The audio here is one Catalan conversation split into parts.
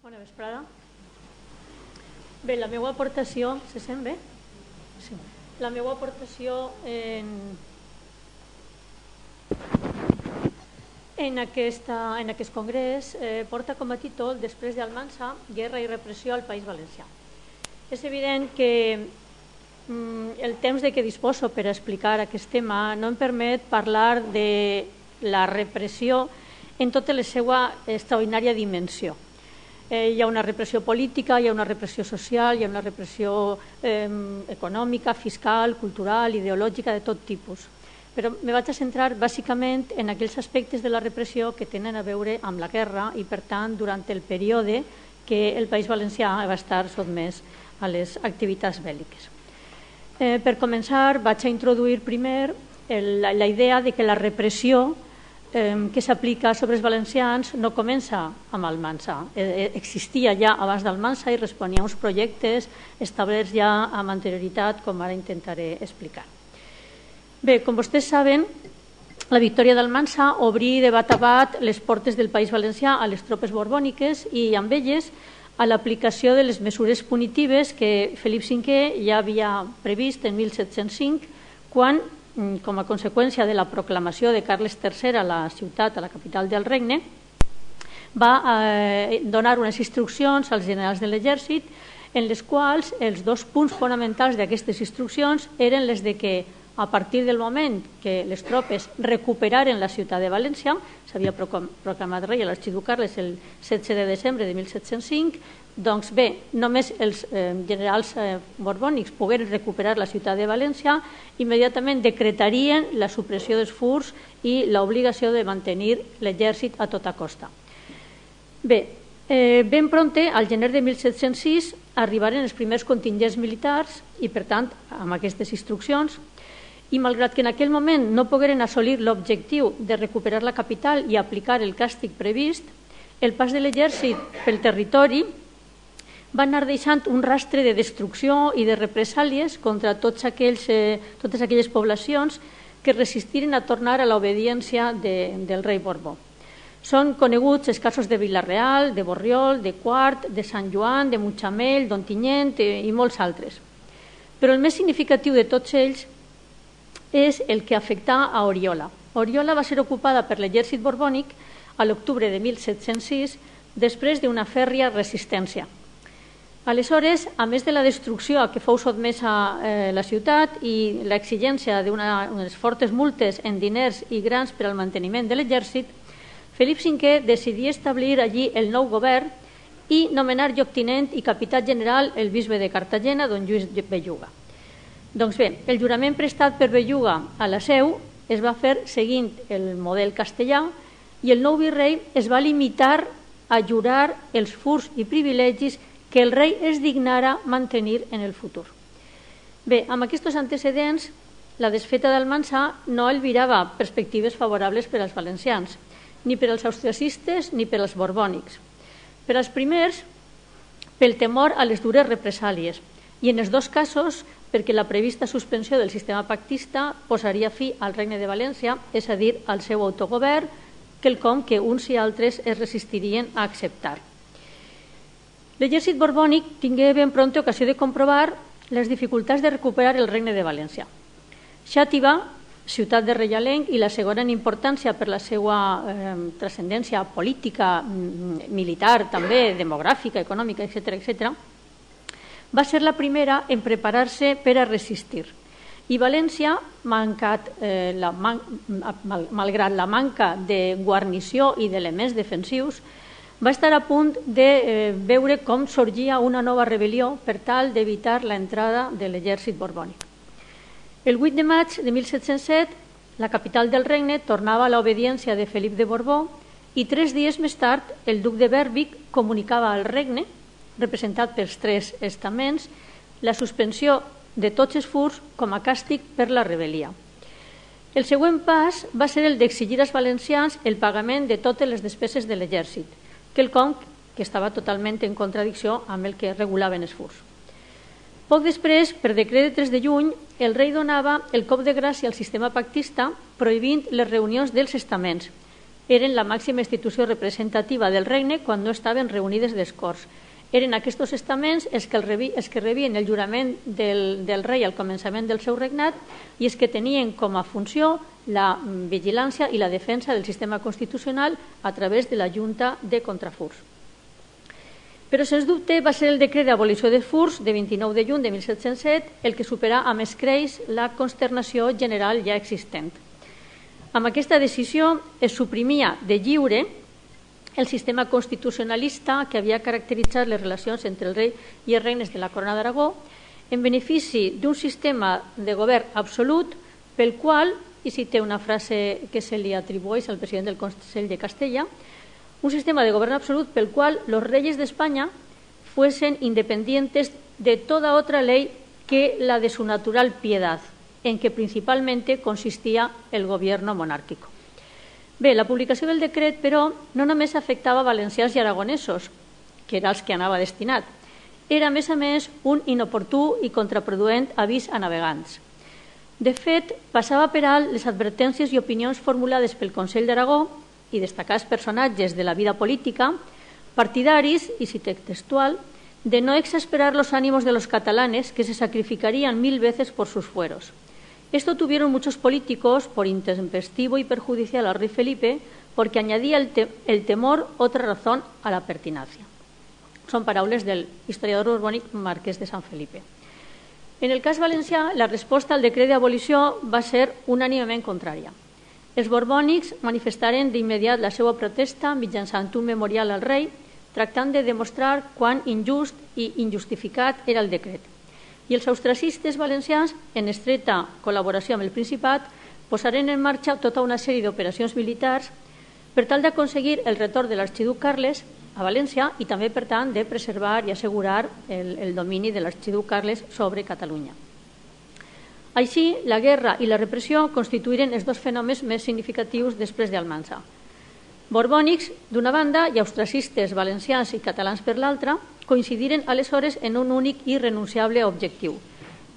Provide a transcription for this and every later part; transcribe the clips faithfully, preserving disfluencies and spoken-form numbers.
Bona vesprada. Bé, la meva aportació... Se sent bé? Sí. La meva aportació en, en, aquesta, en aquest congrés eh, porta com a títol Després d'Almansa, guerra i repressió al País Valencià. És evident que mm, el temps de què disposo per explicar aquest tema no em permet parlar de la repressió en tota la seva extraordinària dimensió. Eh, hi ha una repressió política, hi ha una repressió social, hi ha una repressió eh, econòmica, fiscal, cultural, ideològica, de tot tipus. Però me vaig a centrar bàsicament en aquells aspectes de la repressió que tenen a veure amb la guerra i, per tant, durant el període que el País Valencià va estar sotmès a les activitats bèl·liques. Eh, per començar, vaig a introduir primer el, la, la idea de que la repressió que s'aplica sobre els valencians no comença amb Almansa. Existia ja abans d'Almansa i responia a uns projectes establerts ja amb anterioritat, com ara intentaré explicar. Bé, com vostès saben, la victòria d'Almansa obrí de bat a bat les portes del País Valencià a les tropes borbòniques i amb elles a l'aplicació de les mesures punitives que Felip cinquè ja havia previst en mil set-cents cinc, quan, com a conseqüència de la proclamació de Carles tercer a la ciutat, a la capital del regne, va eh, donar unes instruccions als generals de l'exèrcit en les quals els dos punts fonamentals d'aquestes instruccions eren les de que a partir del moment que les tropes recuperaren la ciutat de València, s'havia proclamat rei a l'arxiduc Carles el setze de desembre de mil set-cents cinc, doncs bé, només els eh, generals eh, borbònics pogueren recuperar la ciutat de València, immediatament decretarien la supressió dels furs i l'obligació de mantenir l'exèrcit a tota costa. Bé, eh, ben prompte, al gener de mil set-cents sis, arribaren els primers contingents militars i, per tant, amb aquestes instruccions, i malgrat que en aquell moment no pogueren assolir l'objectiu de recuperar la capital i aplicar el càstig previst, el pas de l'exèrcit pel territori va anar deixant un rastre de destrucció i de represàlies contra tots aquells, eh, totes aquelles poblacions que resistiren a tornar a l'obediència de, del rei Borbó. Són coneguts els casos de Vila-real, de Borriol, de Quart, de Sant Joan, de Mutxamel, d'Ontinyent eh, i molts altres. Però el més significatiu de tots ells és el que afectà a Oriola. Oriola va ser ocupada per l'exèrcit borbònic a l'octubre de mil set-cents sis després d'una fèrria resistència. Aleshores, a més de la destrucció a què fou sotmesa eh, la ciutat i l'exigència d'unes fortes multes en diners i grans per al manteniment de l'exèrcit, Felip cinquè decidí establir allí el nou govern i nomenar lloctinent i capità general el bisbe de Cartagena, don Lluís Belluga. Doncs bé, el jurament prestat per Belluga a la seu es va fer seguint el model castellà i el nou virrei es va limitar a jurar els furs i privilegis que el rei es dignara mantenir en el futur. Bé, amb aquests antecedents, la desfeta d'Almansa no albirava perspectives favorables per als valencians, ni per als austriacistes ni per als borbònics. Per als primers, pel temor a les dures represàlies, i en els dos casos perquè la prevista suspensió del sistema pactista posaria fi al regne de València, és a dir, al seu autogovern, quelcom que uns i altres es resistirien a acceptar. L'exèrcit borbònic tingué ben prompte ocasió de comprovar les dificultats de recuperar el regne de València. Xàtiva, ciutat de reialenc i la segona en importància per la seva eh, transcendència política, militar, també demogràfica, econòmica, etcètera, etcètera, va ser la primera en preparar-se per a resistir. I València, mancat, eh, la man, mal, malgrat la manca de guarnició i d'elements defensius, va estar a punt de eh, veure com sorgia una nova rebel·lió per tal d'evitar l'entrada de l'exèrcit borbònic. El vuit de maig de mil set-cents set, la capital del regne tornava a l'obediència de Felip de Borbó i tres dies més tard el duc de Bèrwick comunicava al regne, representat pels tres estaments, la suspensió de tots els furs com a càstig per la rebel·lia. El següent pas va ser el d'exigir als valencians el pagament de totes les despeses de l'exèrcit, quelcom que estava totalment en contradicció amb el que regulaven els furs. Poc després, per decret de tres de juny, el rei donava el cop de gràcia al sistema pactista prohibint les reunions dels estaments, eren la màxima institució representativa del regne quan no estaven reunides les Corts. Eren aquests estaments els que, el rebi, els que rebien el jurament del, del rei al començament del seu regnat i els que tenien com a funció la vigilància i la defensa del sistema constitucional a través de la Junta de Contrafurs. Però, sens dubte, va ser el decret d'abolició de furs de vint-i-nou de juny de mil set-cents set el que superà amb escreix la consternació general ja existent. Amb aquesta decisió es suprimia de lliure el sistema constitucionalista que havia caracteritzat les relacions entre el rei i els regnes de la Corona d'Aragó en benefici d'un sistema de govern absolut pel qual, i cité una frase que se li atribueix al president del Consell de Castella, un sistema de govern absolut pel qual los reyes de España fuesen independientes de toda otra ley que la de su natural piedad, en que principalmente consistía el gobierno monárquico. Bé, la publicació del decret, però, no només afectava valencians i aragonesos, que era els que anava destinat. Era, a més a més, un inoportú i contraproduent avís a navegants. De fet, passava per alt les advertències i opinions formulades pel Consell d'Aragó i destacats personatges de la vida política, partidaris, y cité textual, de no exasperar los ánimos de los catalanes que se sacrificarían mil veces por sus fueros. Esto tuvieron muchos políticos por intempestivo y perjudicial al rey Felipe porque añadía el, te el temor otra razón a la pertinacia. Son paraules del historiador borbònic Marquès de Sant Felipe. En el cas valencià, la resposta al decret d'abolició va ser unànimement contrària. Els borbònics manifestaren d'immediat la seva protesta mitjançant un memorial al rei, tractant de demostrar quant injust i injustificat era el decret. I els austracistes valencians, en estreta col·laboració amb el Principat, posaren en marxa tota una sèrie d'operacions militars per tal d'aconseguir el retorn de l'arxiduc Carles a València i també, per tant, de preservar i assegurar el, el domini de l'arxiduc Carles sobre Catalunya. Així, la guerra i la repressió constituïren els dos fenòmens més significatius després d'Almansa. Borbònics, d'una banda, i austracistes valencians i catalans per l'altra, coincidiren aleshores en un únic i irrenunciable objectiu,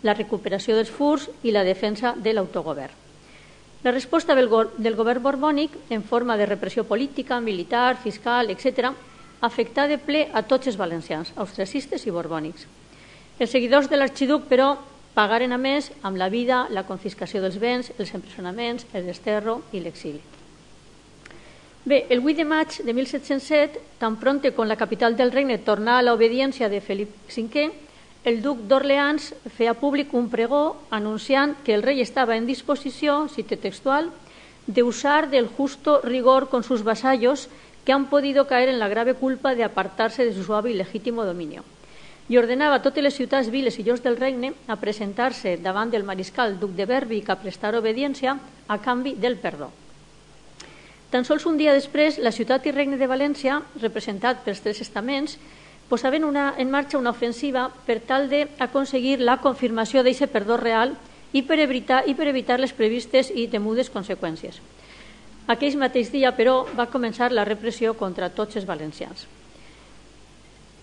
la recuperació dels furs i la defensa de l'autogovern. La resposta del, go del govern borbònic, en forma de repressió política, militar, fiscal, etcètera, afectà de ple a tots els valencians, austracistes i borbònics. Els seguidors de l'arxiduc, però, pagaren a més amb la vida la confiscació dels béns, els empresonaments, el desterro i l'exili. Bé, el vuit de maig de mil set-cents set, tan pronte com la capital del regne tornà a l'obediència de Felip cinquè, el duc d'Orleans feia públic un pregó anunciant que el rei estava en disposició, cite textual, de usar del justo rigor con sus vasallos que han podido caer en la grave culpa de apartarse de su suave y legítimo dominio. I ordenava a totes les ciutats, viles i llocs del regne a presentar-se davant del mariscal duc de Berwick a prestar obediència a canvi del perdó. Tan sols un dia després, la ciutat i regne de València, representat pels tres estaments, posaven una, en marxa una ofensiva per tal d'aconseguir la confirmació d'aquest perdó real i per, evitar, i per evitar les previstes i temudes conseqüències. Aquell mateix dia, però, va començar la repressió contra tots els valencians.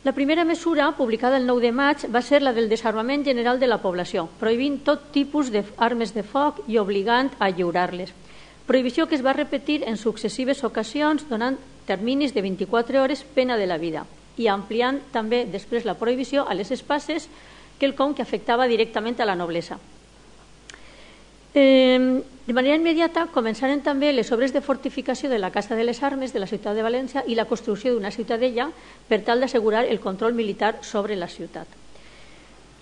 La primera mesura, publicada el nou de maig, va ser la del desarmament general de la població, prohibint tot tipus d'armes de foc i obligant a lliurar-les. Prohibició que es va repetir en successives ocasions donant terminis de vint-i-quatre hores pena de la vida i ampliant també després la prohibició a les espases, quelcom que afectava directament a la noblesa. Eh, de manera immediata començaren també les obres de fortificació de la Casa de les Armes de la ciutat de València i la construcció d'una ciutadella per tal d'assegurar el control militar sobre la ciutat.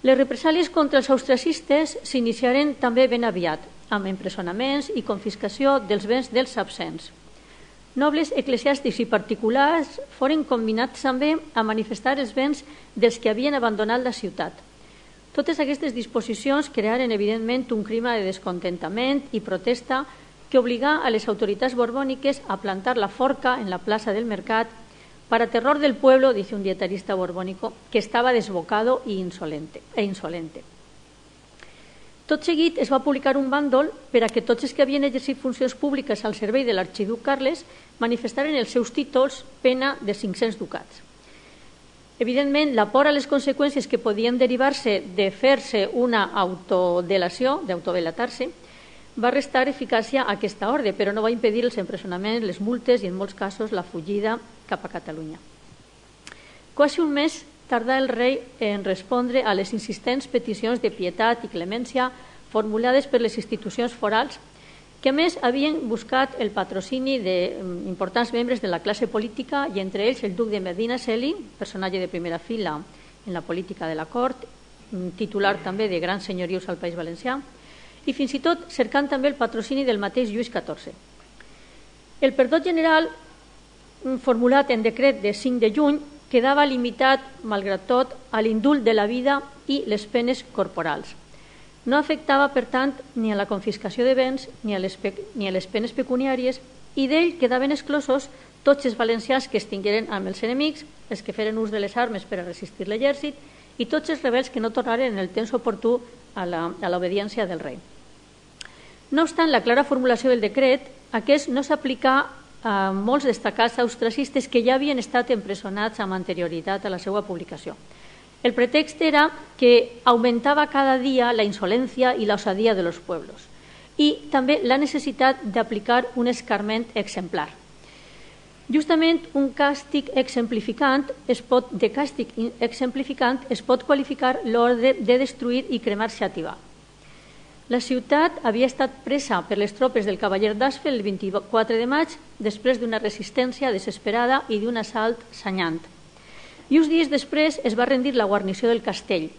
Les represàlies contra els austracistes s'iniciaren també ben aviat, amb empresonaments i confiscació dels béns dels absents. Nobles eclesiàstics i particulars foren combinats també a manifestar els béns dels que havien abandonat la ciutat. Totes aquestes disposicions crearen evidentment un clima de descontentament i protesta que obligà a les autoritats borbòniques a plantar la forca en la plaça del Mercat para terror del pueblo, dice un dietarista borbónico, que estaba desbocado e insolente. E insolente. Tot seguit es va publicar un bàndol per a que tots els que havien exercit funcions públiques al servei de l'arxiduc Carles manifestaren els seus títols pena de cinc-cents ducats. Evidentment, la por a les conseqüències que podien derivar-se de fer-se una autodelació, d'autodelatar-se, va restar eficàcia a aquesta ordre, però no va impedir els empresonaments, les multes i, en molts casos, la fugida cap a Catalunya. Quasi un mes tardà el rei en respondre a les insistents peticions de pietat i clemència formulades per les institucions forals, que a més havien buscat el patrocini d'importants membres de la classe política i entre ells el duc de Medinaceli, personatge de primera fila en la política de la cort, titular també de grans senyorius al País Valencià, i fins i tot cercant també el patrocini del mateix Lluís catorze. El perdó general, formulat en decret de cinc de juny, quedava limitat, malgrat tot, a l'indult de la vida i les penes corporals. No afectava, per tant, ni a la confiscació de béns ni a les, ni a les penes pecuniàries i d'ell quedaven exclosos tots els valencians que es tingueren amb els enemics, els que feren ús de les armes per a resistir l'exèrcit i tots els rebels que no tornaren en el temps oportú a l'obediència del rei. No obstant la clara formulació del decret, aquest no s'aplicà a molts destacats austracistes que ja havien estat empresonats amb anterioritat a la seva publicació. El pretext era que augmentava cada dia la insolència i la osadia de los pueblos i també la necessitat d'aplicar un escarment exemplar. Justament un càstig exemplificant es pot, de càstig exemplificant es pot qualificar l'ordre de destruir i cremar Xàtiva. La ciutat havia estat presa per les tropes del cavaller d'Asfel el vint-i-quatre de maig després d'una resistència desesperada i d'un assalt sanyant. I uns dies després es va rendir la guarnició del castell,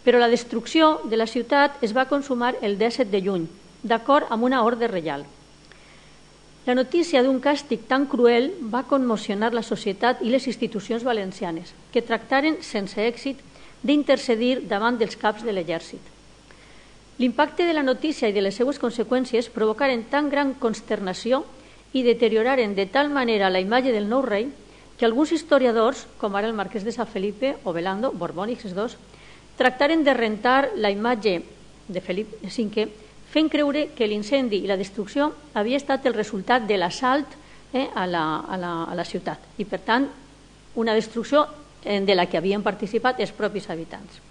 però la destrucció de la ciutat es va consumar el disset de juny, d'acord amb una ordre reial. La notícia d'un càstig tan cruel va commocionar la societat i les institucions valencianes, que tractaren sense èxit d'intercedir davant dels caps de l'exèrcit. L'impacte de la notícia i de les seues conseqüències provocaren tan gran consternació i deterioraren de tal manera la imatge del nou rei que alguns historiadors, com ara el marquès de Sant Felipe o Belando, borbònics els dos, tractaren de rentar la imatge de Felip cinquè, fent creure que l'incendi i la destrucció havia estat el resultat de l'assalt eh, a, la, a, la, a la ciutat i, per tant, una destrucció de la que havien participat els propis habitants.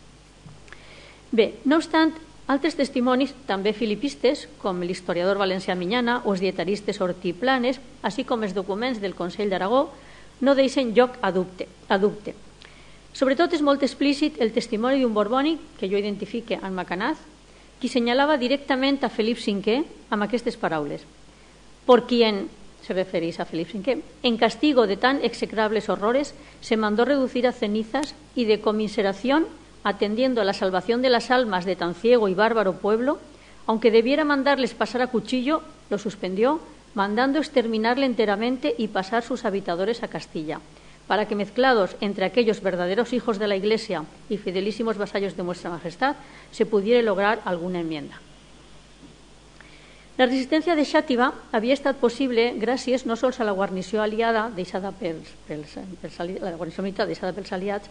Bé, no obstant, altres testimonis, també filipistes, com l'historiador valencià Miñana o els dietaristes Ortí i Planes, així com els documents del Consell d'Aragó, no deixen lloc a dubte. A dubte. Sobretot és molt explícit el testimoni d'un borbònic, que jo identifique en Macanaz, qui senyalava directament a Felip cinquè amb aquestes paraules. Por quien, se referís a Felip cinquè, en castigo de tan execrables horrores, se mandó reducir a cenizas y de conmiseración, atendiendo a la salvación de las almas de tan ciego y bárbaro pueblo, aunque debiera mandarles pasar a cuchillo, lo suspendió, mandando exterminarle enteramente y pasar sus habitadores a Castilla, para que mezclados entre aquellos verdaderos hijos de la Iglesia y fidelísimos vasallos de vuestra Majestad, se pudiera lograr alguna enmienda. La resistència de Xàtiva havia estat possible gràcies no sols a la guarnició aliada deixada pels, pels, pels, la guarnició militar deixada pels aliats,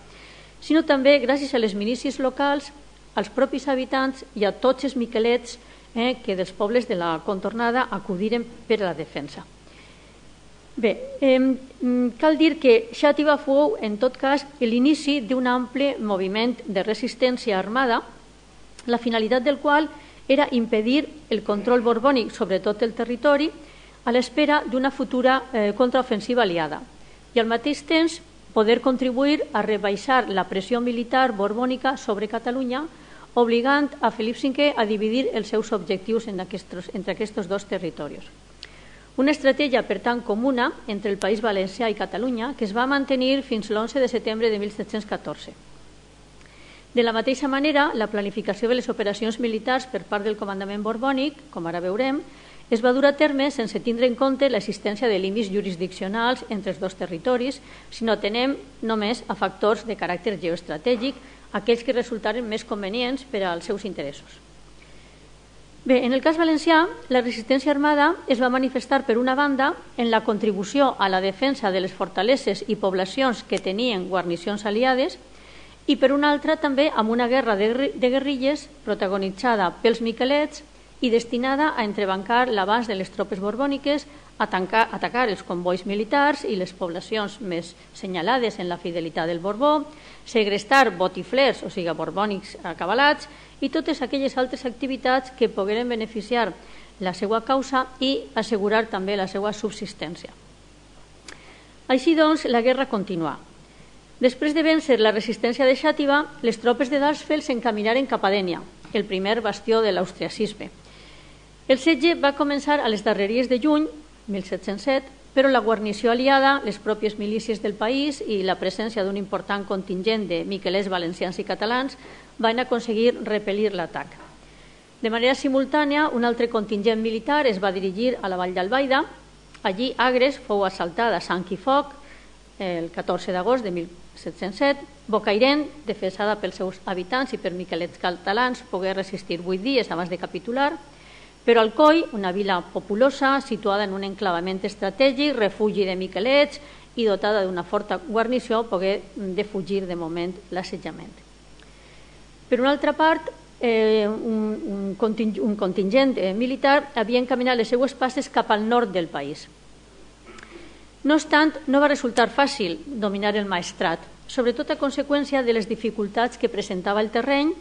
sinó també gràcies a les milícies locals, als propis habitants i a tots els miquelets eh, que dels pobles de la contornada acudiren per a la defensa. Bé, eh, cal dir que Xàtiva fou, en tot cas, l'inici d'un ample moviment de resistència armada, la finalitat del qual era impedir el control borbònic sobre tot el territori a l'espera d'una futura eh, contraofensiva aliada i al mateix temps poder contribuir a rebaixar la pressió militar borbònica sobre Catalunya, obligant a Felip cinquè a dividir els seus objectius en aquests, entre aquests dos territoris. Una estratègia, per tant, comuna entre el País Valencià i Catalunya que es va mantenir fins l'onze de setembre de mil set-cents catorze. De la mateixa manera, la planificació de les operacions militars per part del comandament borbònic, com ara veurem, es va dur a terme sense tindre en compte l'existència de límits jurisdiccionals entre els dos territoris, sinó atenem només a factors de caràcter geoestratègic, aquells que resultaren més convenients per als seus interessos. Bé, en el cas valencià, la resistència armada es va manifestar, per una banda, en la contribució a la defensa de les fortaleses i poblacions que tenien guarnicions aliades i, per una altra, també amb una guerra de guerrilles protagonitzada pels miquelets i destinada a entrebancar l'abast de les tropes borbòniques atacar, atacar els convois militars i les poblacions més senyalades en la fidelitat del Borbó, segrestar botiflers, o sigui, borbònics acabalats, i totes aquelles altres activitats que pogueren beneficiar la seva causa i assegurar també la seva subsistència. Així doncs, la guerra continuà. Després de vèncer la resistència de Xàtiva, les tropes de Darsfeld s'encaminaren cap a Dénia, el primer bastió de l'austriacisme. El setge va començar a les darreries de juny mil set-cents set, però la guarnició aliada, les pròpies milícies del país i la presència d'un important contingent de miquelets valencians i catalans van aconseguir repel·lir l'atac. De manera simultània, un altre contingent militar es va dirigir a la vall d'Albaida. Allí, Agres fou assaltada a sang i foc el catorze d'agost de mil set-cents set. Bocairent, defensada pels seus habitants i per miquelets catalans, pogué resistir vuit dies abans de capitular. Però Alcoi, una vila populosa, situada en un enclavament estratègic, refugi de miquelets i dotada d'una forta guarnició, pogué defugir de moment l'assetjament. Per una altra part, eh, un, un, conting un contingent eh, militar havia encaminat les seues passes cap al nord del país. No obstant, no va resultar fàcil dominar el Maestrat, sobretot a conseqüència de les dificultats que presentava el terreny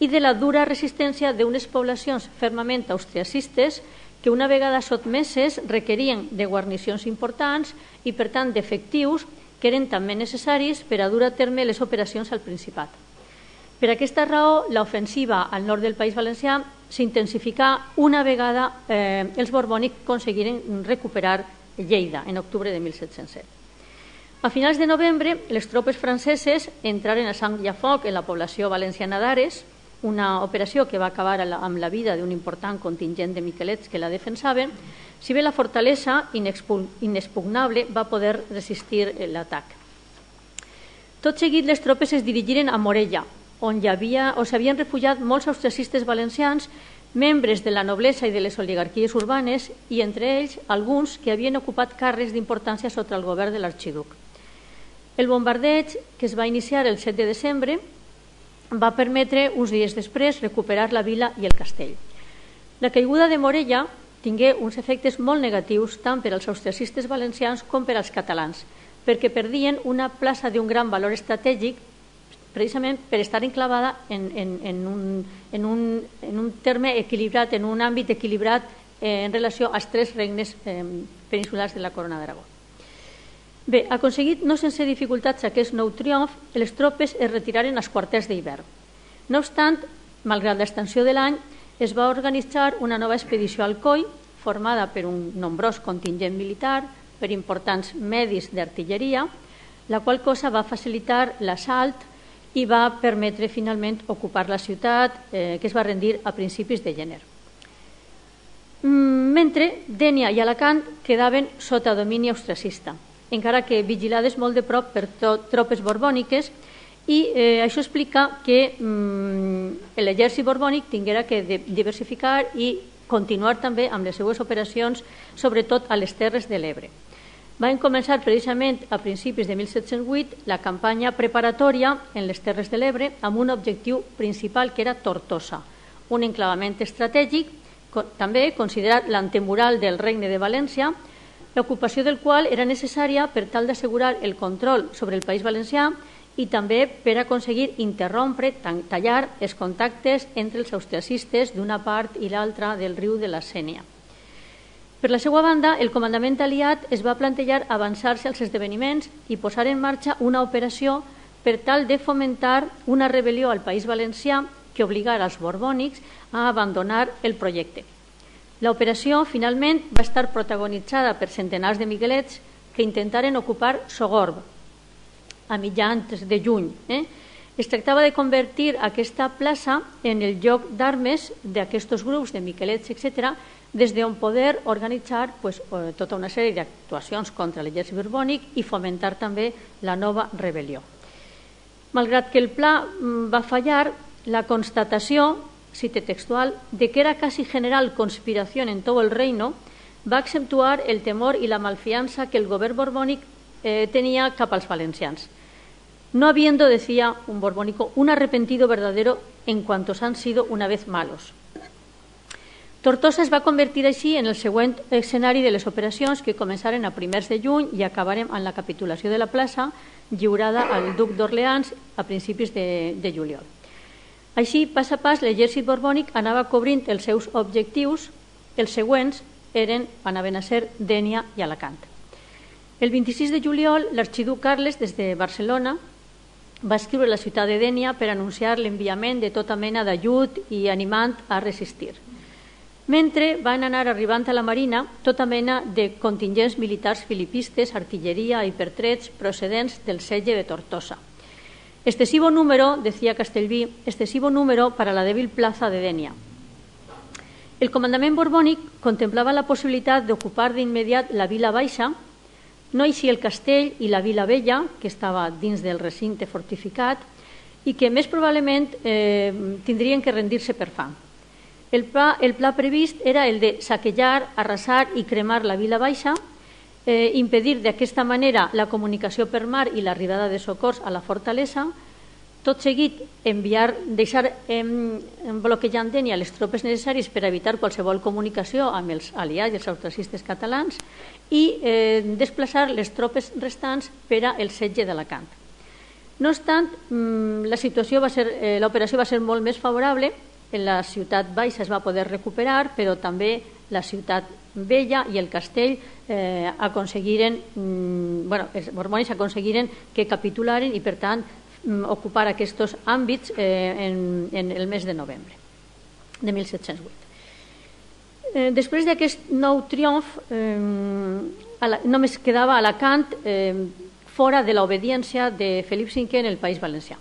i de la dura resistència d'unes poblacions fermament austriacistes que una vegada sotmeses requerien de guarnicions importants i per tant d'efectius que eren també necessaris per a dur a terme les operacions al Principat. Per aquesta raó, l'ofensiva al nord del País Valencià s'intensificà una vegada eh, els borbònics aconseguiren recuperar Lleida en octubre de mil set-cents set. A finals de novembre, les tropes franceses entraren a sang i a foc en la població valenciana d'Ares, una operació que va acabar amb la vida d'un important contingent de miquelets que la defensaven, si bé la fortalesa inexpugnable va poder resistir l'atac. Tot seguit, les tropes es dirigiren a Morella, on hi havia, o s'havien refugiat molts austriacistes valencians, membres de la noblesa i de les oligarquies urbanes, i entre ells alguns que havien ocupat càrrecs d'importància sota el govern de l'arxiduc. El bombardeig, que es va iniciar el set de desembre, va permetre, uns dies després, recuperar la vila i el castell. La caiguda de Morella tingué uns efectes molt negatius tant per als austriacistes valencians com per als catalans, perquè perdien una plaça d'un gran valor estratègic precisament per estar enclavada en, en, en, un, en, un, en un terme equilibrat, en un àmbit equilibrat eh, en relació als tres regnes eh, peninsulars de la Corona d'Aragó. Bé, aconseguit no sense dificultats aquest nou triomf, les tropes es retiraren als quarters d'hivern. No obstant, malgrat l'extensió de l'any, es va organitzar una nova expedició al Coi, formada per un nombrós contingent militar, per importants medis d'artilleria, la qual cosa va facilitar l'assalt i va permetre finalment ocupar la ciutat, eh, que es va rendir a principis de gener. Mentre Dénia i Alacant quedaven sota domini austriacista, encara que vigilades molt de prop per tropes borbòniques, i eh, això explica que mm, l'exèrcit borbònic tinguera que diversificar i continuar també amb les seues operacions, sobretot a les Terres de l'Ebre. Van començar precisament a principis de mil set-cents vuit la campanya preparatòria en les Terres de l'Ebre amb un objectiu principal que era Tortosa, un enclavament estratègic, també considerat l'antemural del Regne de València, l'ocupació del qual era necessària per tal d'assegurar el control sobre el País Valencià i també per aconseguir interrompre, tallar els contactes entre els austriacistes d'una part i l'altra del riu de la Sénia. Per la seva banda, el comandament aliat es va plantejar avançar-se als esdeveniments i posar en marxa una operació per tal de fomentar una rebel·lió al País Valencià que obligara els borbònics a abandonar el projecte. L'operació, finalment, va estar protagonitzada per centenars de miquelets que intentaren ocupar Sogorb a mitjans de juny. Eh? Es tractava de convertir aquesta plaça en el lloc d'armes d'aquests grups de miquelets, etcètera, des d'on poder organitzar pues, tota una sèrie d'actuacions contra l'exèrcit borbònic i fomentar també la nova rebel·lió. Malgrat que el pla va fallar, la constatació, cite textual, de que era casi general conspiración en todo el reino, va accentuar el temor y la malfianza que el gobierno borbónic eh, tenía cap als valencians. No habiendo, decía un borbónico, un arrepentido verdadero en cuantos han sido una vez malos. Tortosa es va convertir així en el següent escenari de les operacions que començaren a primers de juny i acabaren amb la capitulació de la plaça lliurada al duc d'Orleans a principis de, de juliol. Així, pas a pas, l'exèrcit borbònic anava cobrint els seus objectius. Els següents eren, anaven a ser Dénia i Alacant. El vint-i-sis de juliol, l'arxiduc Carles, des de Barcelona, va escriure a la ciutat de Dénia per anunciar l'enviament de tota mena d'ajut i animant a resistir. Mentre van anar arribant a la marina tota mena de contingents militars filipistes, artilleria i pertrets procedents del setge de Tortosa. Excesivo número, decía Castellví, excesivo número para la débil plaza de Dénia. El comandament borbònic contemplava la possibilitat d'ocupar d'immediat la Vila Baixa, no així el castell i la Vila Vella, que estava dins del recinte fortificat, i que més probablement eh, tindrien que rendir-se per fam. El pla, el pla previst era el de saquejar, arrasar i cremar la Vila Baixa, eh, impedir d'aquesta manera la comunicació per mar i l'arribada de socors a la fortalesa, tot seguit enviar, deixar eh, bloquejant Dénia les tropes necessàries per evitar qualsevol comunicació amb els aliats i els austracistes catalans i eh, desplaçar les tropes restants per al setge d'Alacant. No obstant, la situació va ser, eh, l'operació va ser molt més favorable. En la ciutat baixa es va poder recuperar, però també la ciutat vella i el castell eh, aconseguiren, mm, bueno, els borbònics aconseguiren que capitularen i, per tant, mm, ocupar aquests àmbits eh, en, en el mes de novembre de mil set-cents vuit. Eh, després d'aquest nou triomf, eh, la, només quedava Alacant eh, fora de l'obediència de Felip cinquè en el País Valencià.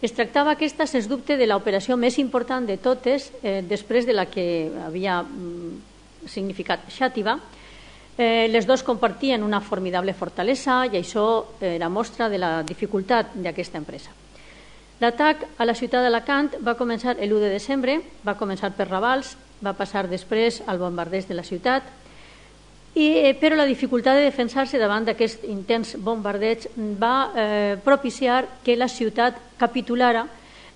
Es tractava aquesta, sens dubte, de l'operació més important de totes, eh, després de la que havia mm, significat Xàtiva. Eh, les dues compartien una formidable fortalesa i això era mostra de la dificultat d'aquesta empresa. L'atac a la ciutat d'Alacant va començar l'u de desembre, va començar per Ravals, va passar després al bombardeig de la ciutat, I, però la dificultat de defensar-se davant d'aquest intens bombardeig va eh, propiciar que la ciutat capitulara,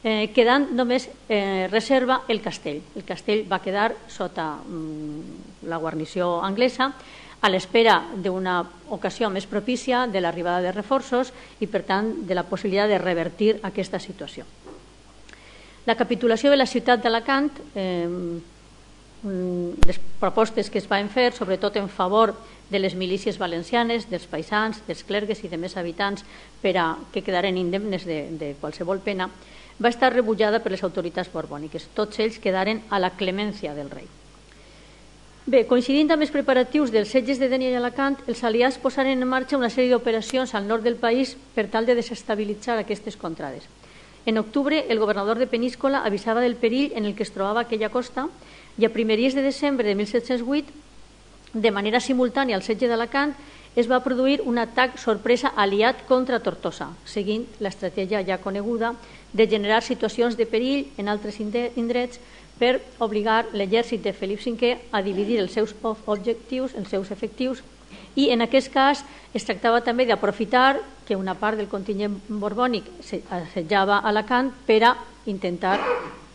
eh, quedant només eh, reserva el castell. El castell va quedar sota mm, la guarnició anglesa a l'espera d'una ocasió més propícia de l'arribada de reforços i, per tant, de la possibilitat de revertir aquesta situació. La capitulació de la ciutat d'Alacant, eh, les propostes que es van fer, sobretot en favor de les milícies valencianes, dels paisans, dels clergues i de més habitants per a que quedaren indemnes de, de qualsevol pena, va estar rebutjada per les autoritats borbòniques. Tots ells quedaren a la clemència del rei. Bé, coincidint amb els preparatius dels setges de Dénia i Alacant, els aliats posaren en marxa una sèrie d'operacions al nord del país per tal de desestabilitzar aquestes contrades. En octubre, el governador de Peníscola avisava del perill en el que es trobava aquella costa i a primeries de desembre de mil set-cents vuit, de manera simultània al setge d'Alacant, es va produir un atac sorpresa aliat contra Tortosa, seguint l'estratègia ja coneguda de generar situacions de perill en altres indrets per obligar l'exèrcit de Felip cinquè a dividir els seus objectius, els seus efectius, i en aquest cas es tractava també d'aprofitar que una part del contingent borbònic assetjava Alacant per a intentar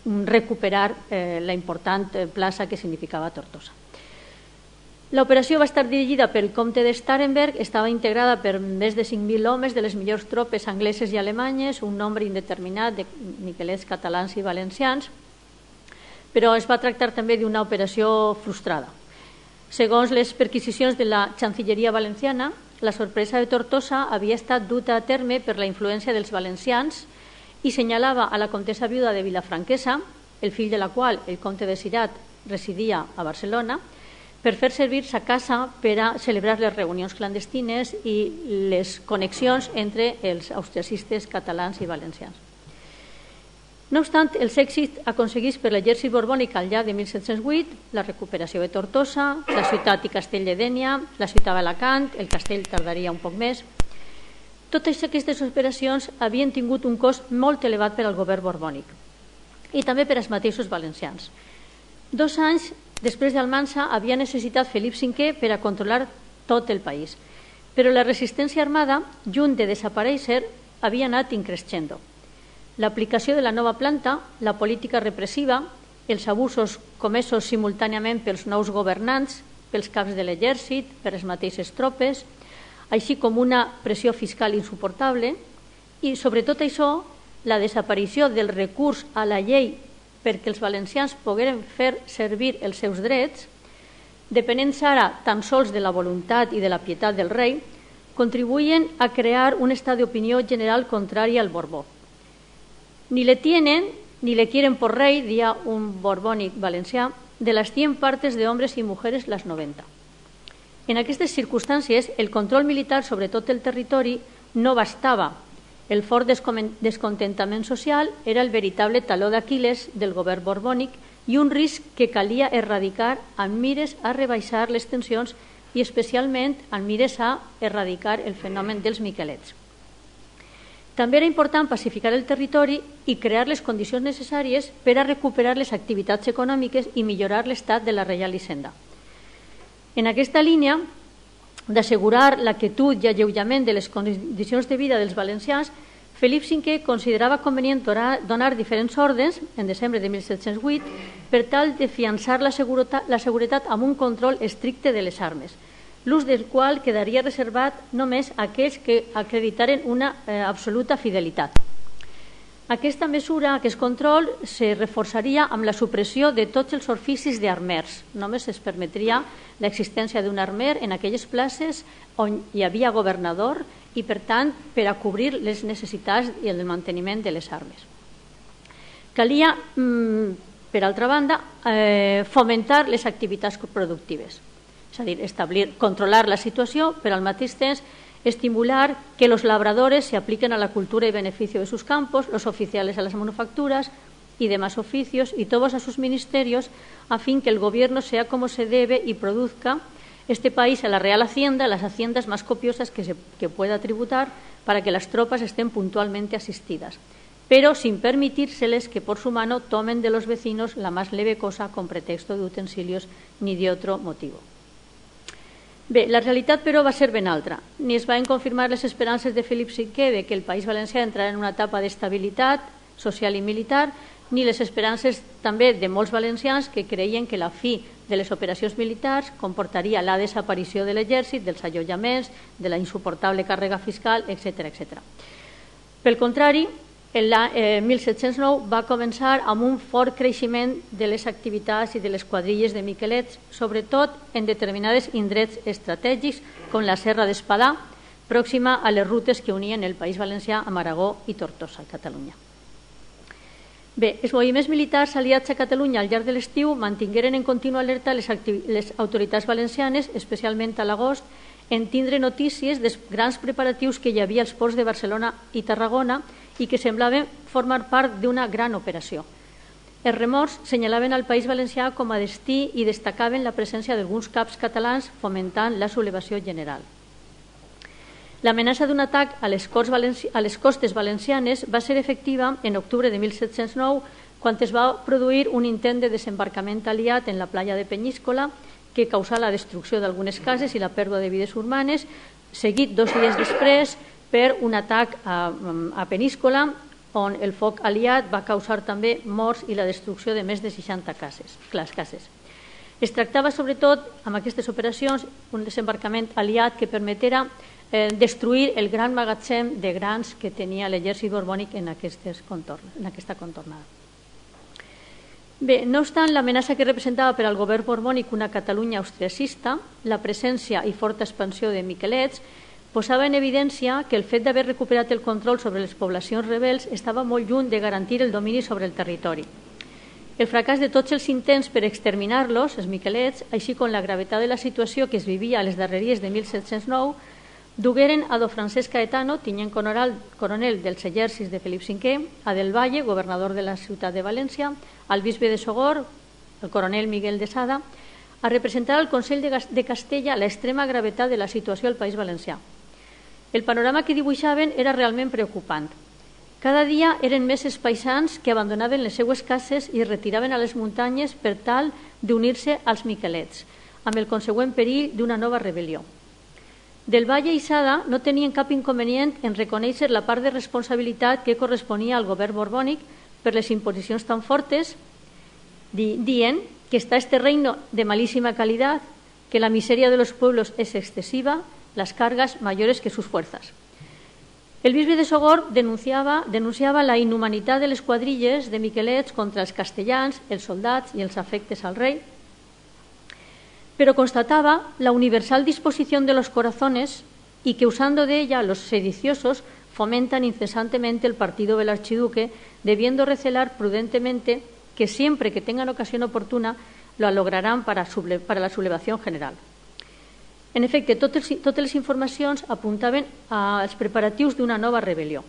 recuperar eh, la important plaça que significava Tortosa. L'operació va estar dirigida pel comte de Starhemberg, estava integrada per més de cinc mil homes de les millors tropes angleses i alemanyes, un nombre indeterminat de miquelets catalans i valencians, però es va tractar també d'una operació frustrada. Segons les perquisicions de la Chancilleria valenciana, la sorpresa de Tortosa havia estat duta a terme per la influència dels valencians i senyalava a la comtessa viuda de Vilafranquesa, el fill de la qual, el comte de Cirat, residia a Barcelona, per fer servir sa casa per a celebrar les reunions clandestines i les connexions entre els austriacistes catalans i valencians. No obstant, els èxits aconseguits per l'exèrcit borbònic al llarg de mil set-cents vuit, la recuperació de Tortosa, la ciutat i castell de Dénia, la ciutat d'Alacant, el castell tardaria un poc més. Totes aquestes operacions havien tingut un cost molt elevat per al govern borbònic i també per als mateixos valencians. Dos anys després d'Almansa havia necessitat Felip cinquè per a controlar tot el país, però la resistència armada, lluny de desaparèixer, havia anat increixendo. L'aplicació de la nova planta, la política repressiva els abusos comesos simultàniament pels nous governants, pels caps de l'exèrcit, per les mateixes tropes, així com una pressió fiscal insuportable i, sobretot això, la desaparició del recurs a la llei perquè els valencians pogueren fer servir els seus drets, depenent ara tan sols de la voluntat i de la pietat del rei, contribuyen a crear un estat d'opinió general contrari al Borbó. Ni le tienen ni le quieren por rey, decía un borbónic valencià, de las cien partes de hombres y mujeres las noventa. En aquestes circumstàncies, el control militar sobre tot el territori no bastava. El fort descontentament social era el veritable taló d'Aquil·les del govern borbònic i un risc que calia erradicar amb mires a rebaixar les tensions i especialment amb mires a erradicar el fenomen dels miquelets. També era important pacificar el territori i crear les condicions necessàries per a recuperar les activitats econòmiques i millorar l'estat de la Reial Hisenda. En aquesta línia d'assegurar la quietud i alleujament de les condicions de vida dels valencians, Felip cinquè considerava convenient donar diferents ordres, en desembre de mil set-cents vuit, per tal de fiançar la seguretat amb un control estricte de les armes, l'ús del qual quedaria reservat només a aquells que acreditaren una eh, absoluta fidelitat. Aquesta mesura, aquest control, se reforçaria amb la supressió de tots els oficis d'armers. Només es permetria l'existència d'un armer en aquelles places on hi havia governador i, per tant, per a cobrir les necessitats i el manteniment de les armes. Calia, per altra banda, eh, fomentar les activitats productives. És a dir, establir, controlar la situació, però al mateix temps estimular que los labradores se apliquen a la cultura y beneficio de sus campos, los oficiales a las manufacturas y demás oficios y todos a sus ministerios, a fin que el gobierno sea como se debe y produzca este país a la Real Hacienda, las haciendas más copiosas que, se, que pueda tributar para que las tropas estén puntualmente asistidas, pero sin permitírseles que por su mano tomen de los vecinos la más leve cosa con pretexto de utensilios ni de otro motivo. Bé, la realitat, però, va ser ben altra. Ni es van confirmar les esperances de Felip cinquè de que el País Valencià entrarà en una etapa d'estabilitat social i militar, ni les esperances també de molts valencians que creien que la fi de les operacions militars comportaria la desaparició de l'exèrcit, dels allotjaments, de la insuportable càrrega fiscal, etcètera etcètera. Pel contrari, l'any mil set-cents nou va començar amb un fort creixement de les activitats i de les quadrilles de miquelets, sobretot en determinades indrets estratègics com la Serra d'Espadà, pròxima a les rutes que unien el País Valencià amb Aragó i Tortosa, a Catalunya. Bé, els moviments militars aliats a Catalunya al llarg de l'estiu mantingueren en contínua alerta les, les autoritats valencianes, especialment a l'agost, en tindre notícies dels grans preparatius que hi havia als ports de Barcelona i Tarragona i que semblaven formar part d'una gran operació. Els remors senyalaven al País Valencià com a destí i destacaven la presència d'alguns caps catalans fomentant la sublevació general. L'amenaça d'un atac a les, a les costes valencianes va ser efectiva en octubre de mil set-cents nou, quan es va produir un intent de desembarcament aliat en la playa de Penyíscola que causà la destrucció d'algunes cases i la pèrdua de vides humanes, seguit dos dies després per un atac a, a Peníscola, on el foc aliat va causar també morts i la destrucció de més de seixanta cases. cases. Es tractava, sobretot, amb aquestes operacions, un desembarcament aliat que permetera eh, destruir el gran magatzem de grans que tenia l'exèrcit borbònic en, en aquesta contornada. Bé, no obstant l'amenaça que representava per al govern borbònic una Catalunya austriacista, la presència i forta expansió de miquelets posava en evidència que el fet d'haver recuperat el control sobre les poblacions rebels estava molt lluny de garantir el domini sobre el territori. El fracàs de tots els intents per exterminar-los, els miquelets, així com la gravetat de la situació que es vivia a les darreries de mil set-cents nou, dugueren a do Francesc Caetano, tinent coronel dels exèrcits de Felip cinquè, a Del Valle, governador de la ciutat de València, al bisbe de Sogor, el coronel Miguel de Sada, a representar al Consell de Castella l'extrema gravetat de la situació al País Valencià. El panorama que dibuixaven era realment preocupant. Cada dia eren més els paisans que abandonaven les seues cases i es retiraven a les muntanyes per tal d'unir-se als miquelets, amb el consegüent perill d'una nova rebel·lió. Del Valle i Sada no tenien cap inconvenient en reconèixer la part de responsabilitat que corresponia al govern borbònic per les imposicions tan fortes dient que está este reino de malísima calidad, que la miseria de los pueblos es excesiva, las cargas mayores que sus fuerzas. El bisbe de Sogorb denunciava, denunciava la inhumanitat de les quadrilles de miquelets contra els castellans, els soldats i els afectes al rei, pero constataba la universal disposición de los corazones y que usando de ella los sediciosos fomentan incesantemente el partido del archiduque, debiendo recelar prudentemente que siempre que tengan ocasión oportuna lo lograrán para, para la sublevación general. En efecte, totes, totes les informacions apuntaven als preparatius d'una nova rebel·lió.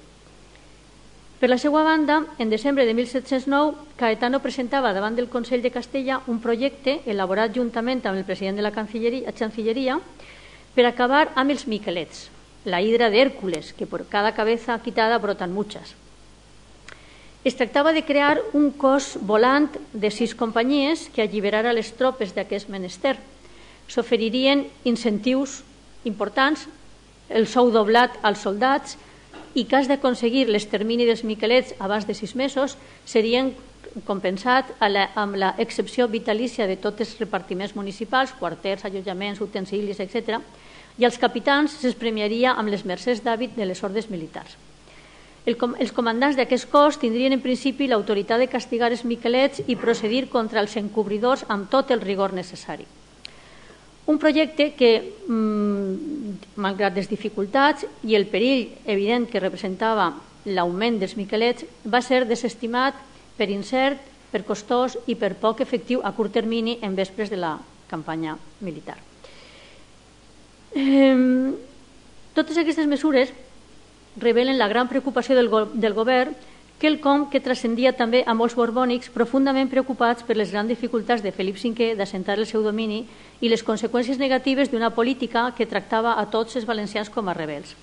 Per la seva banda, en desembre de mil set-cents nou, Caetano presentava davant del Consell de Castella un projecte elaborat juntament amb el president de la Cancilleria per acabar amb els miquelets, la hidra d'Hèrcules, que por cada cabeza quitada brotan muchas. Es tractava de crear un cos volant de sis companyies que alliberara les tropes d'aquest menester. S'oferirien incentius importants, el sou doblat als soldats i cas d'aconseguir l'extermini dels miquelets abans de sis mesos serien compensats amb l'excepció vitalícia de tots els repartiments municipals, quarters, allotjaments, utensilis, etcètera, i als capitans se'ls premiaria amb les mercès d'hàbit de les ordes militars. El com, els comandants d'aquest cos tindrien en principi l'autoritat de castigar els miquelets i procedir contra els encobridors amb tot el rigor necessari. Un projecte que, mmm, malgrat les dificultats i el perill evident que representava l'augment dels miquelets, va ser desestimat per incert, per costós i per poc efectiu a curt termini en vespres de la campanya militar. Eh, totes aquestes mesures revelen la gran preocupació del, go del govern, quelcom que transcendia també a molts borbònics profundament preocupats per les grans dificultats de Felip cinquè d'assentar el seu domini i les conseqüències negatives d'una política que tractava a tots els valencians com a rebels.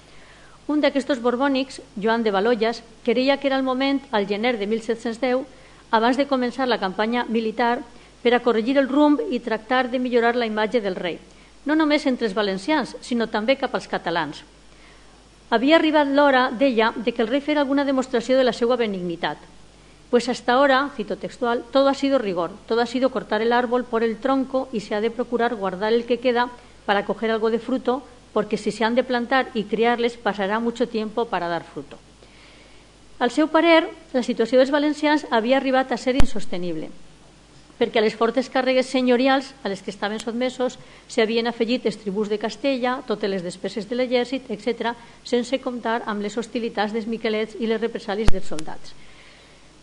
Un d'aquests borbònics, Joan de Valollas, creia que era el moment, al gener de mil set-cents deu, abans de començar la campanya militar, per a corregir el rumb i tractar de millorar la imatge del rei, no només entre els valencians, sinó també cap als catalans. Havia arribat l'hora, deia, de que el rei fera alguna demostració de la seva benignitat. Pues hasta ahora, cito textual, todo ha sido rigor, todo ha sido cortar el árbol por el tronco y se ha de procurar guardar el que queda para coger algo de fruto, porque si se han de plantar y criarles pasará mucho tiempo para dar fruto. Al seu parer, la situació dels valencians havia arribat a ser insostenible, perquè a les fortes càrregues senyorials a les que estaven sotmesos s'havien afegit els tributs de Castella, totes les despeses de l'exèrcit, etcètera, sense comptar amb les hostilitats dels miquelets i les represàlies dels soldats.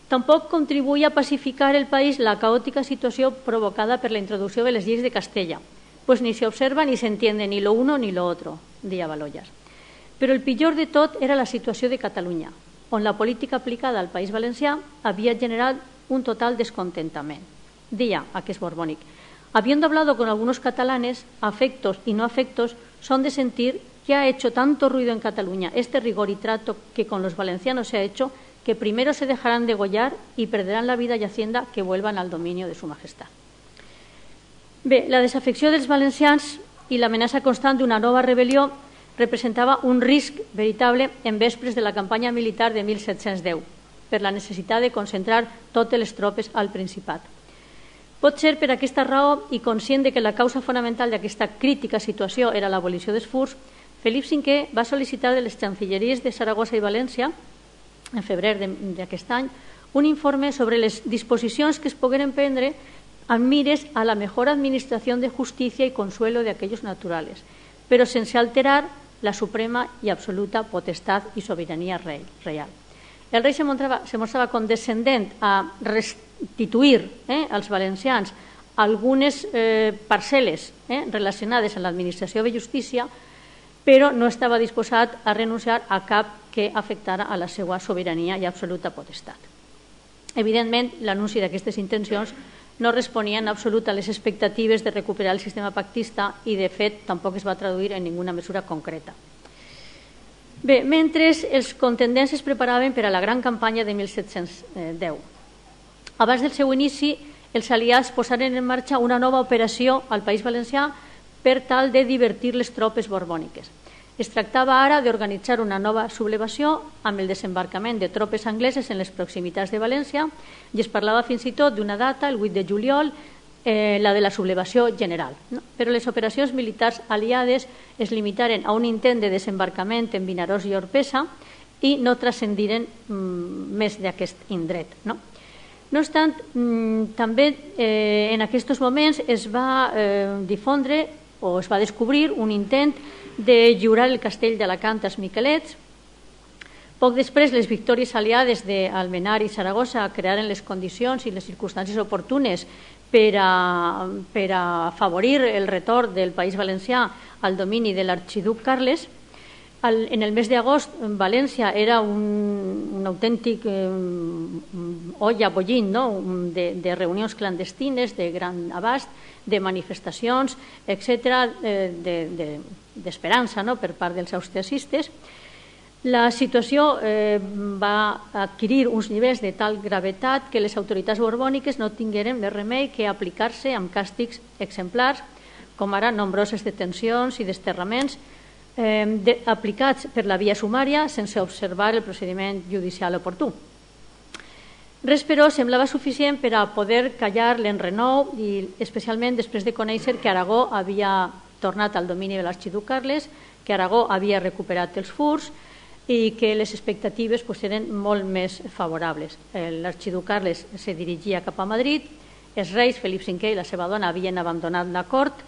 Tampoc contribuïa a pacificar el país la caòtica situació provocada per la introducció de les lleis de Castella, pues ni se observa ni se entiende ni lo uno ni lo otro, deia Valollas. Però el pitjor de tot era la situació de Catalunya, on la política aplicada al País Valencià havia generat un total descontentament. Día aquest borbónic. Habiendo hablado con algunos catalanes, afectos y no afectos, son de sentir que ha hecho tanto ruido en Cataluña este rigor y trato que con los valencianos se ha hecho, que primero se dejarán degollar y perderán la vida y hacienda que vuelvan al dominio de su majestad. Bé, la desafecció dels valencians i l'amenaça constant d'una nova rebel·lió representava un risc veritable en vespres de la campanya militar de mil set-cents deu, per la necessitat de concentrar totes les tropes al Principat. Pot ser per aquesta raó i conscient de que la causa fonamental d'aquesta crítica situació era l'abolició dels furs, Felip cinquè va sol·licitar de les Cancilleries de Saragossa i València, en febrer d'aquest any, un informe sobre les disposicions que es pogueren prendre amb mires a la mejor administración de justicia y consuelo de aquellos naturales, pero sense alterar la suprema y absoluta potestad y soberanía real. El rei se mostrava, se mostrava condescendent a restituir eh, als valencians algunes eh, parcel·les eh, relacionades amb l'administració de justícia, però no estava disposat a renunciar a cap que afectara a la seva sobirania i absoluta potestat. Evidentment, l'anunci d'aquestes intencions no responia en absolut a les expectatives de recuperar el sistema pactista i, de fet, tampoc es va traduir en ninguna mesura concreta. Bé, mentre els contendents es preparaven per a la gran campanya de mil set-cents deu. Abans del seu inici, els aliats posaren en marxa una nova operació al País Valencià per tal de divertir les tropes borbòniques. Es tractava ara d'organitzar una nova sublevació amb el desembarcament de tropes angleses en les proximitats de València i es parlava fins i tot d'una data, el vuit de juliol, eh, la de la sublevació general. No? Però les operacions militars aliades es limitaren a un intent de desembarcament en Vinaròs i Orpesa i no transcendiren mm, més d'aquest indret. No? No obstant, mm, també eh, en aquests moments es va eh, difondre o es va descobrir un intent de lliurar el castell d'Alacant als miquelets. Poc després, les victòries aliades d'Almenar i Saragossa crearen les condicions i les circumstàncies oportunes per a, per a afavorir el retorn del País Valencià al domini de l'arxiduc Carles. Al, en el mes d'agost, València era un, un autèntic eh, olla bollint, no? de, de reunions clandestines, de gran abast, de manifestacions, etcètera, eh, d'esperança de, de, no? per part dels austriacistes. La situació eh, va adquirir uns nivells de tal gravetat que les autoritats borbòniques no tingueren més remei que aplicar-se amb càstigs exemplars, com ara nombroses detencions i desterraments, Eh, de, aplicats per la via sumària sense observar el procediment judicial oportú. Res, però, semblava suficient per a poder callar l'enrenou i especialment després de conèixer que Aragó havia tornat al domini de l'arxiduc Carles, que Aragó havia recuperat els furs i que les expectatives pues, eren molt més favorables. L'arxiduc Carles se dirigia cap a Madrid, els reis Felip cinquè i la seva dona havien abandonat la cort,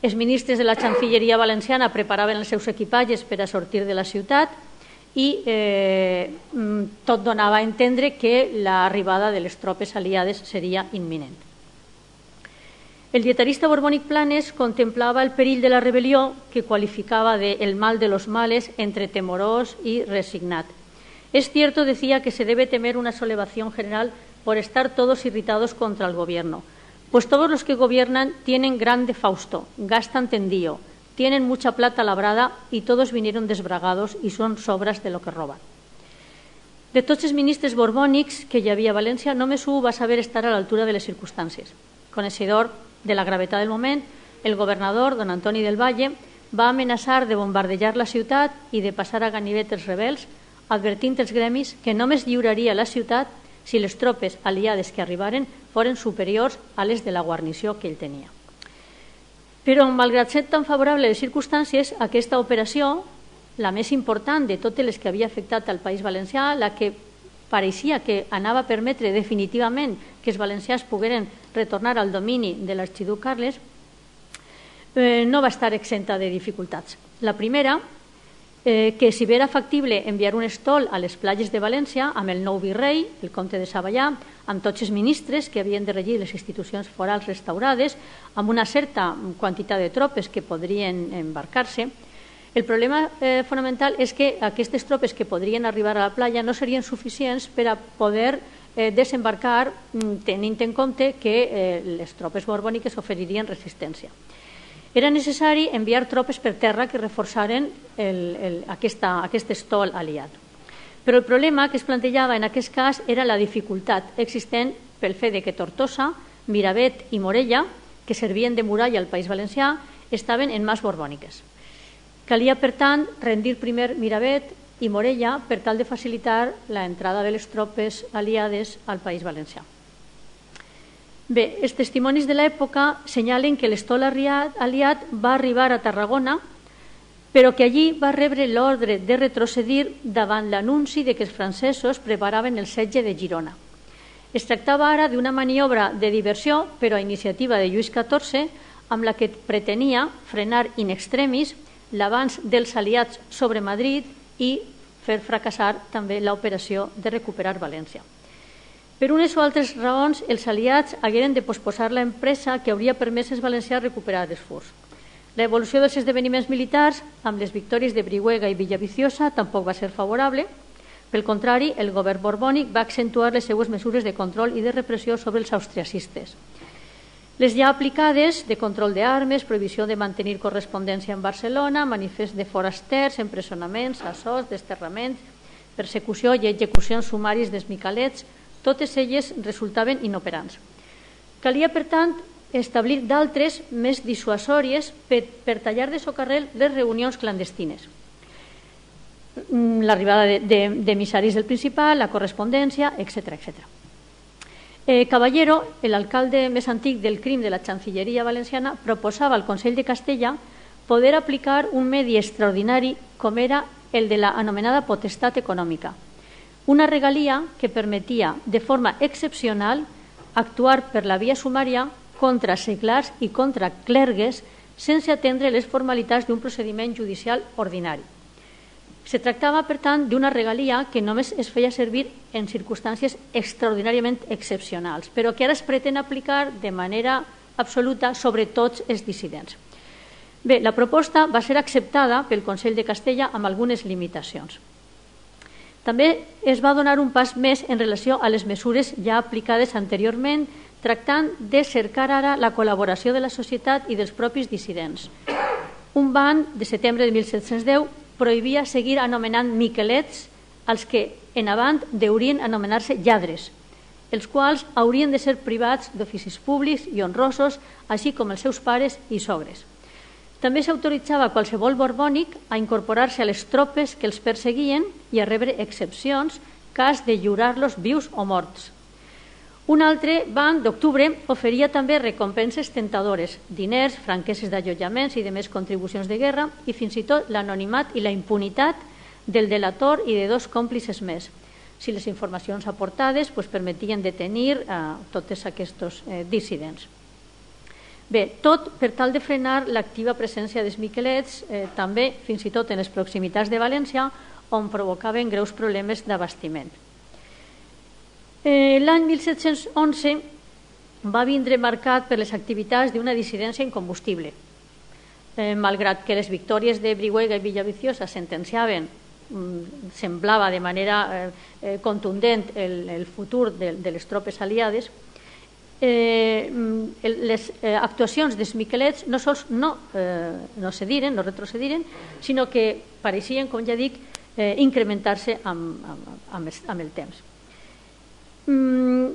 els ministres de la Xancilleria valenciana preparaven els seus equipatges per a sortir de la ciutat i eh, tot donava a entendre que l'arribada de les tropes aliades seria imminent. El dietarista borbònic Planes contemplava el perill de la rebel·lió que qualificava de el mal de los males entre temorós y resignat. Es cierto, decía, que se debe temer una sublevación general por estar todos irritados contra el gobierno. Pues todos los que gobiernan tienen grande fausto, gastan tendío, tienen mucha plata labrada y todos vinieron desbragados y son sobras de lo que roban. De tots els ministres borbònics que hi havia a València, només un va saber estar a l'altura de les circumstàncies. Coneixedor de la gravetat del moment, el governador, don Antoni del Valle, va amenaçar de bombardejar la ciutat i de passar a ganivet els rebels, advertint els gremis que només lliuraria la ciutat si les tropes aliades que arribaren foren superiors a les de la guarnició que ell tenia. Però, malgrat ser tan favorable les circumstàncies, aquesta operació, la més important de totes les que havia afectat al País Valencià, la que pareixia que anava a permetre definitivament que els valencians pogueren retornar al domini de l'arxiduc Carles, eh, no va estar exenta de dificultats. La primera, Eh, que si bé era factible enviar un estol a les platges de València amb el nou virrei, el comte de Savallà, amb tots els ministres que havien de regir les institucions forals restaurades, amb una certa quantitat de tropes que podrien embarcar-se. El problema eh, fonamental és que aquestes tropes que podrien arribar a la platja no serien suficients per a poder eh, desembarcar tenint en compte que eh, les tropes borbòniques oferirien resistència. Era necessari enviar tropes per terra que reforçaren el, el, aquesta, aquest estol aliat. Però el problema que es plantejava en aquest cas era la dificultat existent pel fet de que Tortosa, Miravet i Morella, que servien de muralla al País Valencià, estaven en mans borbòniques. Calia, per tant, rendir primer Miravet i Morella per tal de facilitar l'entrada de les tropes aliades al País Valencià. Bé, els testimonis de l'època senyalen que l'estol aliat va arribar a Tarragona, però que allí va rebre l'ordre de retrocedir davant l'anunci de que els francesos preparaven el setge de Girona. Es tractava ara d'una maniobra de diversió, però a iniciativa de Lluís catorze, amb la que pretenia frenar in extremis l'avanç dels aliats sobre Madrid i fer fracassar també l'operació de recuperar València. Per unes o altres raons, els aliats hagueren de posposar l'empresa que hauria permès als valencians recuperar els furs. L'evolució dels esdeveniments militars, amb les victòries de Brihuega i Villaviciosa, tampoc va ser favorable. Pel contrari, el govern borbònic va accentuar les seues mesures de control i de repressió sobre els austriacistes. Les ja aplicades de control d'armes, prohibició de mantenir correspondència en Barcelona, manifest de forasters, empresonaments, assos, desterraments, persecució i execucions sumàries dels miquelets, totes elles resultaven inoperants. Calia, per tant, establir d'altres més dissuasòries per, per tallar de socarrel les reunions clandestines. l'arribada d'emissaris del Principat, la correspondència, etcètera, etcètera. Eh, Caballero, l'alcalde més antic del crim de la Chancilleria valenciana, proposava al Consell de Castella poder aplicar un medi extraordinari com era el de la anomenada potestat econòmica, una regalia que permetia de forma excepcional actuar per la via sumària contra seglars i contra clergues sense atendre les formalitats d'un procediment judicial ordinari. Se tractava, per tant, d'una regalia que només es feia servir en circumstàncies extraordinàriament excepcionals, però que ara es pretén aplicar de manera absoluta sobre tots els dissidents. Bé, la proposta va ser acceptada pel Consell de Castella amb algunes limitacions. També es va donar un pas més en relació a les mesures ja aplicades anteriorment, tractant de cercar ara la col·laboració de la societat i dels propis dissidents. Un ban de setembre de mil set-cents deu prohibia seguir anomenant miquelets als que en avant deurien anomenar-se lladres, els quals haurien de ser privats d'oficis públics i honrosos, així com els seus pares i sogres. També s'autoritzava qualsevol borbònic a incorporar-se a les tropes que els perseguien i a rebre excepcions cas de lliurar-los vius o morts. Un altre ban d'octubre oferia també recompenses tentadores, diners, franqueses d'allotjaments i de més contribucions de guerra i fins i tot l'anonimat i la impunitat del delator i de dos còmplices més, si les informacions aportades pues, permetien detenir eh, tots aquests eh, dissidents. Bé, tot per tal de frenar l'activa presència dels miquelets, eh, també fins i tot en les proximitats de València, on provocaven greus problemes d'abastiment. Eh, L'any mil set-cents onze va vindre marcat per les activitats d'una dissidència incombustible. Eh, malgrat que les victòries de Brihuega i Villaviciosa sentenciaven, mm, semblava de manera eh, contundent el, el futur de, de les tropes aliades, eh, les eh, actuacions dels miquelets no sols no, eh, no cediren, no retrocediren, sinó que pareixien, com ja dic, eh, incrementar-se amb, amb, amb, el, amb el temps. Mm,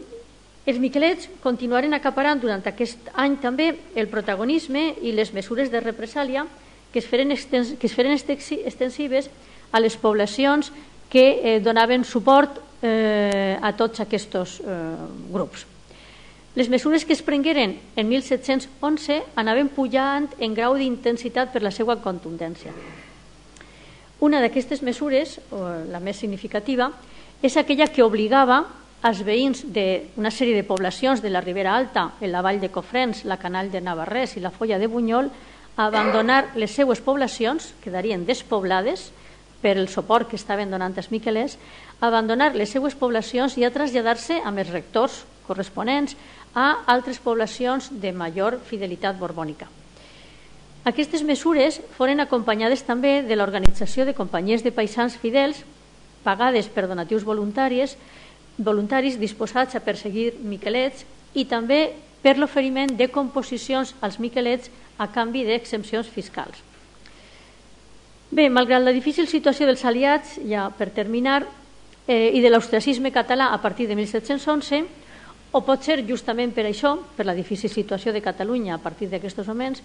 els miquelets continuaren acaparant durant aquest any també el protagonisme i les mesures de represàlia que es feren, extens, que es feren extensives a les poblacions que eh, donaven suport eh, a tots aquests eh, grups. Les mesures que es prengueren en mil set-cents onze anaven pujant en grau d'intensitat per la seva contundència. Una d'aquestes mesures, o la més significativa, és aquella que obligava als veïns d'una sèrie de poblacions de la Ribera Alta, en la vall de Cofrents, la Canal de Navarrés i la Foia de Bunyol, a abandonar les seues poblacions, quedarien despoblades per el suport que estaven donant els miquelers, a abandonar les seues poblacions i a traslladar-se amb els rectors corresponents a altres poblacions de major fidelitat borbònica. Aquestes mesures foren acompanyades també de l'organització de companyies de paisans fidels pagades per donatius voluntaris voluntaris disposats a perseguir miquelets i també per l'oferiment de composicions als miquelets a canvi d'exempcions fiscals. Bé, malgrat la difícil situació dels aliats, ja per terminar, eh, i de l'austriacisme català a partir de mil set-cents onze, o pot ser justament per això, per la difícil situació de Catalunya a partir d'aquests moments,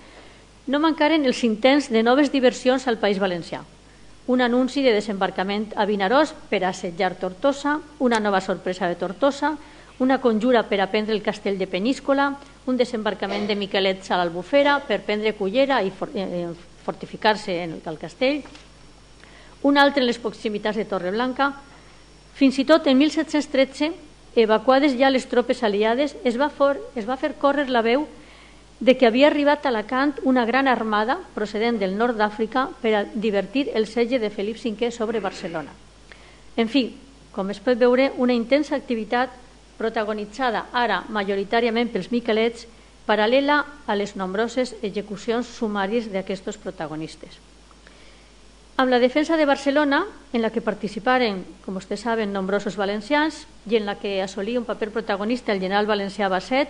no mancaren els intents de noves diversions al País Valencià. Un anunci de desembarcament a Vinaròs per assetjar Tortosa, una nova sorpresa de Tortosa, una conjura per a prendre el castell de Peníscola, un desembarcament de miquelets a l'Albufera per prendre Cullera i fortificar-se en el castell, un altre en les proximitats de Torreblanca. Fins i tot en mil set-cents tretze, evacuades ja les tropes aliades, es va, for, es va fer córrer la veu de que havia arribat a Alacant una gran armada procedent del nord d'Àfrica per a divertir el setge de Felip cinquè sobre Barcelona. En fi, com es pot veure, una intensa activitat protagonitzada ara majoritàriament pels miquelets, paral·lela a les nombroses execucions sumàries d'aquests protagonistes. Amb la defensa de Barcelona, en la que participaren, com vostès saben, nombrosos valencians i en la que assolí un paper protagonista el general valencià Basset,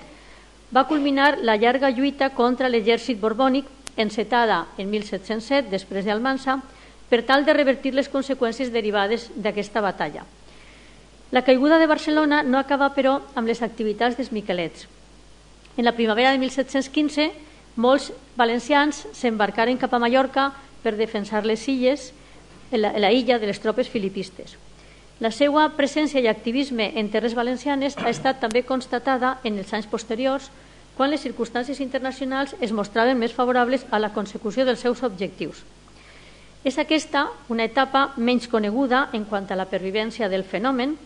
va culminar la llarga lluita contra l'exèrcit borbònic encetada en mil set-cents set, després d'Almansa, per tal de revertir les conseqüències derivades d'aquesta batalla. La caiguda de Barcelona no acaba, però, amb les activitats dels miquelets. En la primavera de mil set-cents quinze, molts valencians s'embarcaren cap a Mallorca per defensar les illes la illa de les tropes filipistes. La seva presència i activisme en terres valencianes ha estat també constatada en els anys posteriors, quan les circumstàncies internacionals es mostraven més favorables a la consecució dels seus objectius. És aquesta una etapa menys coneguda en quant a la pervivència del fenomen,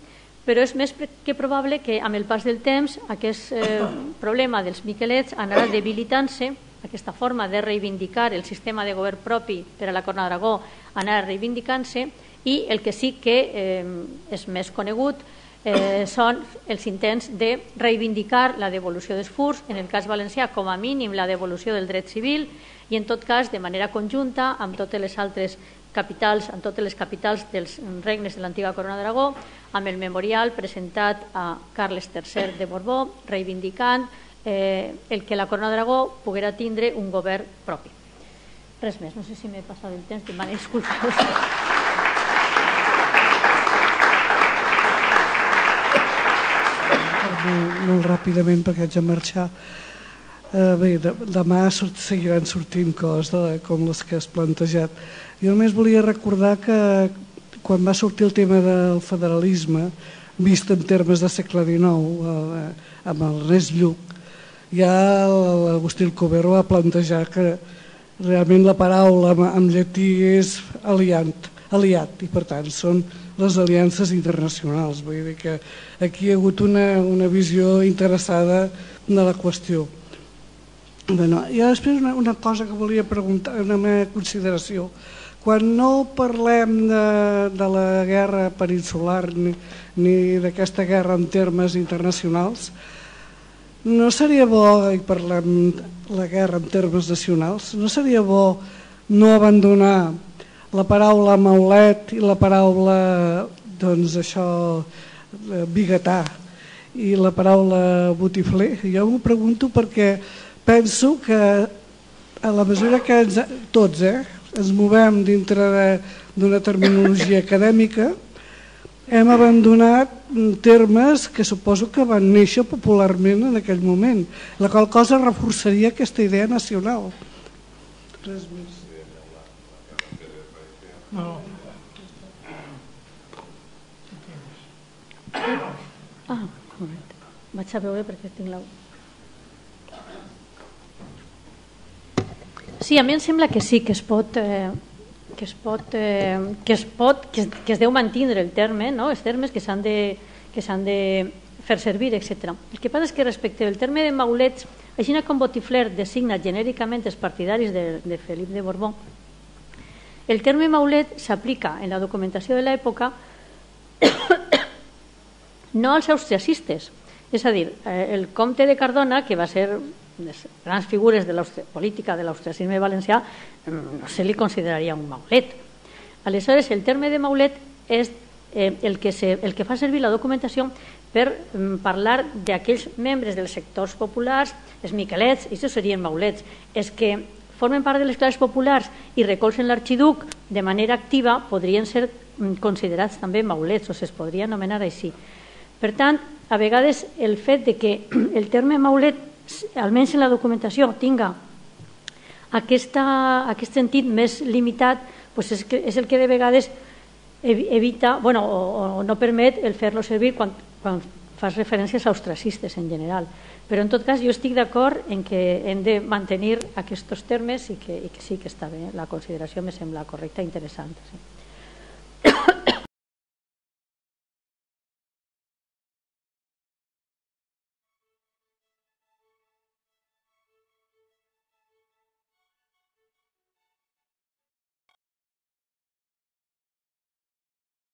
però és més que probable que amb el pas del temps aquest eh, problema dels miquelets anarà debilitant-se, aquesta forma de reivindicar el sistema de govern propi per a la Corona d'Aragó anarà reivindicant-se, i el que sí que eh, és més conegut eh, són els intents de reivindicar la devolució dels furs, en el cas valencià com a mínim la devolució del dret civil, i en tot cas de manera conjunta amb totes les altres capitals, amb totes les capitals dels regnes de l'antiga Corona d'Aragó, amb el memorial presentat a Carles tercer de Borbó, reivindicant eh, el que la Corona d'Aragó poguera tindre un govern propi. Res més, no sé si m'he passat el temps, demano disculpes. Molt, molt ràpidament perquè haig de marxar. Eh, bé, de, demà sort, seguiran sortint coses de, com les que has plantejat. Jo només volia recordar que quan va sortir el tema del federalisme, vist en termes de segle dinou, eh, amb el Ernest Lluch, ja l'Agustí Alcover va plantejar que realment la paraula en llatí és aliant, aliat, i per tant són les aliances internacionals. Vull dir que aquí hi ha hagut una, una visió interessada de la qüestió. Bueno, i després una, una cosa que volia preguntar, una meva consideració. Quan no parlem de, de la guerra peninsular ni, ni d'aquesta guerra en termes internacionals, no seria bo, i parlem de la guerra en termes nacionals, no seria bo no abandonar la paraula maulet i la paraula, doncs això, biguetà i la paraula botifler? Jo m'ho pregunto perquè penso que a la mesura que ens, tots eh, ens movem dintre d'una terminologia acadèmica, hem abandonat termes que suposo que van néixer popularment en aquell moment, la qual cosa reforçaria aquesta idea nacional. Res més. No. Ah, un moment. Vaig a veure perquè tinc la... Sí, a mi em sembla que sí, que es pot... Eh, que es pot, eh, que es pot, que es, que es deu mantindre el terme, no? Els termes que s'han de, que s'han de fer servir, etcètera. El que passa és que respecte al terme de maulets, així com Botifler designa genèricament els partidaris de, de Felip de Borbó, el terme maulet s'aplica en la documentació de l'època no als austriacistes, és a dir, el comte de Cardona, que va ser les grans figures de la política de l'austriacisme valencià, no se li consideraria un maulet. Aleshores, el terme de maulet és eh, el, que se, el que fa servir la documentació per mm, parlar d'aquells membres dels sectors populars, els miquelets, i això serien maulets, és que formen part de les classes populars i recolzen l'arxiduc de manera activa, podrien ser mm, considerats també maulets, o se'ls podria anomenar així. Per tant, a vegades el fet de que el terme maulet, almenys en la documentació, tinga aquesta, aquest sentit més limitat, doncs és, que, és el que de vegades evita, bueno, o, o no permet el fer-lo servir quan, quan fas referències a ostracistes en general. Però en tot cas jo estic d'acord en que hem de mantenir aquests termes i que, i que sí que està bé, la consideració me sembla correcta i interessant. Sí.